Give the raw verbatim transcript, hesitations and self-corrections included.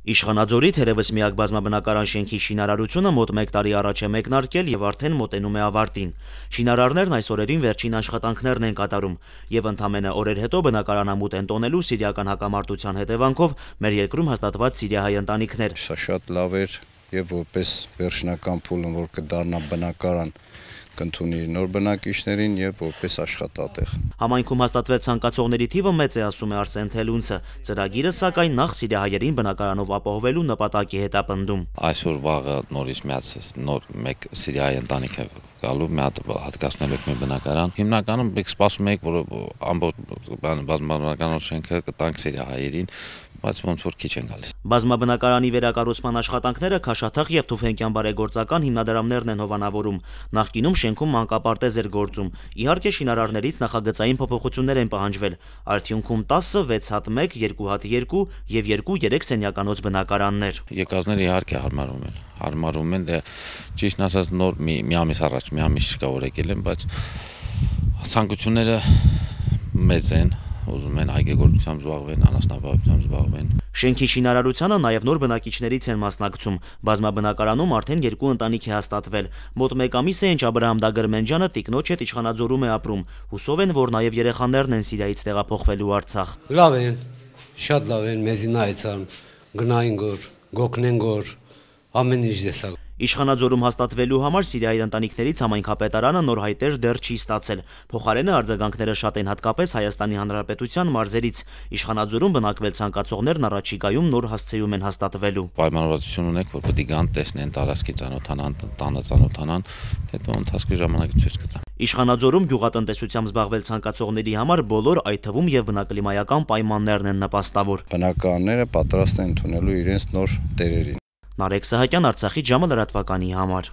Իշխանաձորի թերևս միակ բազմաբնակարան շենքի շինարարությունը մոտ մեկ տարի առաջ է մեկնարկել եւ արդեն մոտենում է ավարտին։ Շինարարներն այս օրերին վերջին աշխատանքներն են կատարում եւ ընդամենը օրեր հետո բնակարանամուտ են տոնելու սիրիական հակամարտության հետևանքով մեր երկրում հաստատված սիրիահայ ընտանիքներ։ Սա շատ լավ էր եւ որպես վերջնական փուլում, որ կդառնա բնակարան, կընդունի նոր բնակիչներին եւ որպես աշխատատեղ։ Համայնքում հաստատվել ցանկացողների թիվը մեծ է, ասում է Արսեն Թելունցը։ Ծրագիրը սակայն նախ սիրիահայերին բնակարանով ապահովելու նպատակի հետ է պնդում։ Այսօր վաղը նորից միացած նոր մեկ սիրիահայ ընտանիք է գալու, մի հատ հատկացնել եք մի բնակարան։ Հիմնականում մենք սպասում ենք, որ ամբողջ բազմաբնակարան շենքը կտանք սիրիահայերին, բայց ոնց որ քիչ են գալիս։ Բազմաբնակարանի վերակառուցման աշխատանքները Քաշաթաղ եւ Թուֆենկյան բարեգործական հիմնադրամներն են հովանավորում։ Նախկինում շենքում մանկապարտեզ էր գործում։ Իհարկե շինարարներից նախագծային փոփոխություններ են պահանջվել։ Արդյունքում տասը, վեց հատ մեկ, երկու հատ երկու եւ երկու երեք սենյականոց բնակարաններ։ Եկածները իհարկե հարմարում են։ Հարմարում են, դե ճիշտն ասած նոր մի մի ամիս առաջ, մի ամիս չկա որ եկել են, բայց ցանկությունները մեծ են։ Ուզում են այգեգործությամբ զբաղվեն, անասնապահությամբ զբաղվեն։ Շենքի շինարարությանը նաև նոր բնակիչներից են մասնակցում։ Բազմաբնակարանում արդեն երկու ընտանիք է հաստատվել։ Մոտ մեկ ամիս է, ինչ Աբրահամ Դագրմենջյանը տիկնոջ հետ Իշխանաձորում է ապրում։ Հուսով են, որ նաև երեխաներն են Սիրիայից տեղափոխվելու Արցախ։ Լավ են, շատ լավ են, մեզին այցան, գնային գոր, գոքնեն գոր, ամեն ինչ դեսա։ Իշխանաձորում հաստատվելու համար Սիրիայի ընտանիքներից համայնքապետարանը նոր հայտեր դեռ չի ստացել։ Փոխարենը արձագանքները շատ են հատկապես Հայաստանի Հանրապետության մարզերից։ Իշխանաձորում բնակվել ցանկացողներն առաջիկայում նոր հասցեում են հաստատվելու։ Պայմանավորվածություն ունենք, որ պետք է գան, տեսնեն, տարածքի ծանոթանան, տանը ծանոթանան, հետո ընթացքի ժամանակ ցույց կտան։ Իշխանաձորում գյուղատնտեսությամբ զբաղվել ցանկացողների համար բոլոր, այդ թվում եւ բնակլիմայական պայմաններն են նպաստավոր։ Բնակարանները պատրաստ են ընդունելու իրենց նոր տերերին։ Նարեկ Սահակյան, Արցախի ժամը լրատվականի համար։